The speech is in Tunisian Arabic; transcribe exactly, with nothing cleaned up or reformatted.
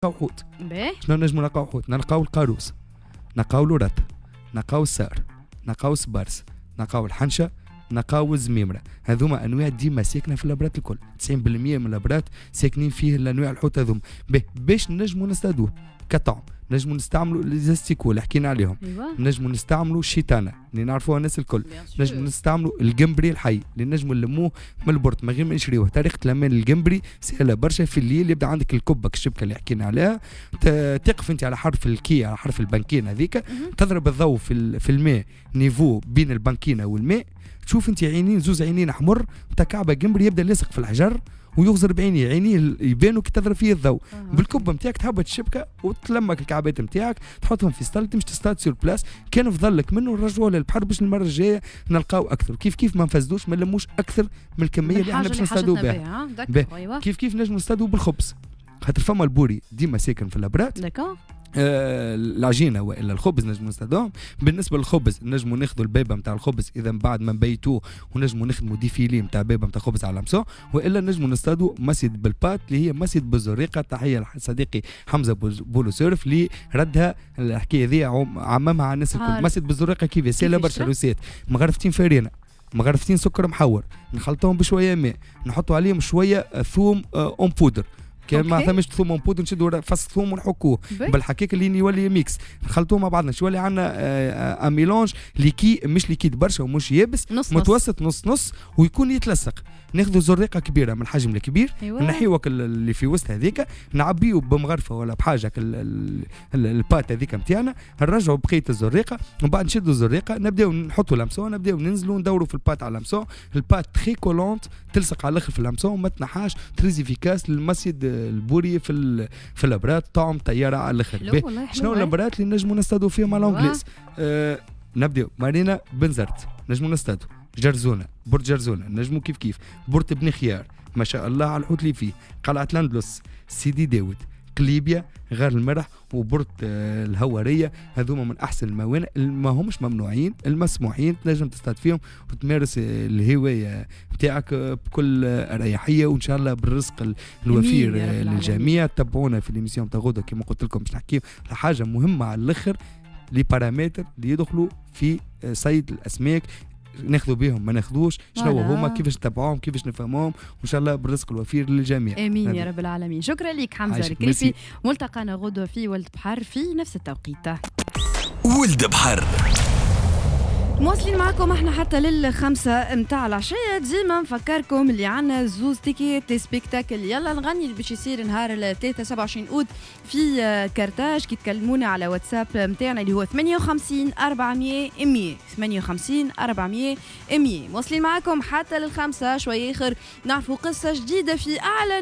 نلقاو حوت. شنو نجمو نلقاو حوت؟ نلقاو القاروس، نلقاو الورات، نلقاو السار، نلقاو السبارس، نلقاو الحنشه، نلقاو الزميمره. هذوما انواع ديما ساكنة في الابرات الكل، تسعين بالمية من الابرات ساكنين فيه الانواع الحوت هذوما. باش نجمو نصطادوه كطعم، نجمو نستعملوا les asticots اللي حكينا عليهم، أيوة. نجمو نستعملوا الشيتانه اللي نعرفوها الناس الكل، نجمو نستعملوا الجمبري الحي اللي نجمو نلموه من ال port من غير ما نشريوه. طريقه لمان الجمبري سهلة برشا، في الليل يبدا عندك الكبك الشبكة اللي حكينا عليها، تقف انت على حرف ال quai، على حرف البنكينه هذيك، تضرب الضوء في في الماء niveau بين البنكينه والماء، تشوف انت عينين زوز عينين احمر نتاع كعبه جمبري يبدا لاصق في الحجر ويغزر بعينيه، عينيه يبانوا كي تضرب فيه الضوء. أه. بالكبه نتاعك تهبط الشبكة وتلمك الكعبات نتاعك، تحطهم في سطل، تمشي تصطاد sur place، كان فضلك منه نرجعوه للبحر باش المرة الجاية نلقاو اكثر. كيف كيف ما نفسدوش، ما نلموش اكثر من الكمية اللي احنا باش نصطادوا بها. كيف كيف نجموا نصطادوا بالخبز، خاطر فما البوري ديما ساكن في الابرات. آه العجينة والا الخبز نجمو نستخدمهم. بالنسبة للخبز نجمو ناخذوا البيبه نتاع الخبز اذا من بعد ما نبيتوه، ونجمو نخدموا des filets نتاع بيبه نتاع خبز على l'hameçon، والا نجمو نصطادوا مصيد بال pâte اللي هي مصيد بالزريقه. تحية لصديقي حمزة بولو سيرف اللي ردها الحكاية ذي عممها على الناس الكل. مصيد بالزريقه كيف سهلة برشا، recette مغرفتين فرينه، مغرفتين سكر محور، نخلطوهم بشوية ماء، نحطوا عليهم شوية ثوم en poudre، كان ما ثماش ثوم en poudre نشدوا فص ثوم ونحكوه بالحكاك اللي يولي mix، نخلطوه مع بعضنا شو يولي عندنا un mélange liquide، مش liquide برشا ومش يابس، نص متوسط نص نص، ويكون يتلصق. ناخذوا زريقه كبيرة من الحجم الكبير، أيوة. نحيوك اللي في وسط هذيك، نعبيو بمغرفه ولا بحاجة ال pâte هذيك نتاعنا، نرجعوا بقية الزريقه، ومن بعد نشدوا الزريقه نبداو نحطوا l'hameçon، نبداو ننزلوا ندوروا في ال pâte على l'hameçon. ال pâte très collante تلصق على الاخر في l'hameçon وما تنحاش، très efficace للمصيد البوري في في الابرات، طعم طيارة على الاخر. شنو الابرات اللي نجموا نصطادوا فيهم على l'anglaise؟ آه نبداو مارينا بنزرت نجموا نصطادوا، جرزونه، port جرزونه نجمو كيف كيف، port بني خيار ما شاء الله على الحوت اللي فيه، قلعه الاندلس، سيدي داود، قليبيا، غار المرح، و port الهواريه. هذوما من احسن الموانئ، ما همش ممنوعين، المسموحين، تنجم تصطاد فيهم وتمارس الهواية نتاعك بكل اريحية، وان شاء الله بالرزق الوفير للجميع. تبعونا في l'émission تاع غدا كما قلت لكم باش نحكيو على حاجة مهمة على الاخر، les paramètres اللي يدخلوا في صيد الاسماك، ناخذوا بهم ما ناخذوش، شنو هما، كيفاش نتبعوهم، كيفاش نفهموهم، وان شاء الله بالرزق الوفير للجميع. امين يا رب العالمين. شكرا لك حمزة الكريفي. ملتقانا غدوه في ولد بحر في نفس التوقيت. ولد بحر مواصلين معكم احنا حتى للخمسة متاع العشية. ديما نفكركم اللي عندنا زوز tickets spectacle يلا نغني اللي باش يصير نهار الثلاثاء سبعة وعشرين أوت في كرتاج. كي تكلمونا على واتساب متاعنا اللي هو ثمانية وخمسين أربعمية مية، ثمانية وخمسين أربعمية مية. مواصلين معكم حتى للخمسة. شوية آخر نعرفوا قصة جديدة في أعلى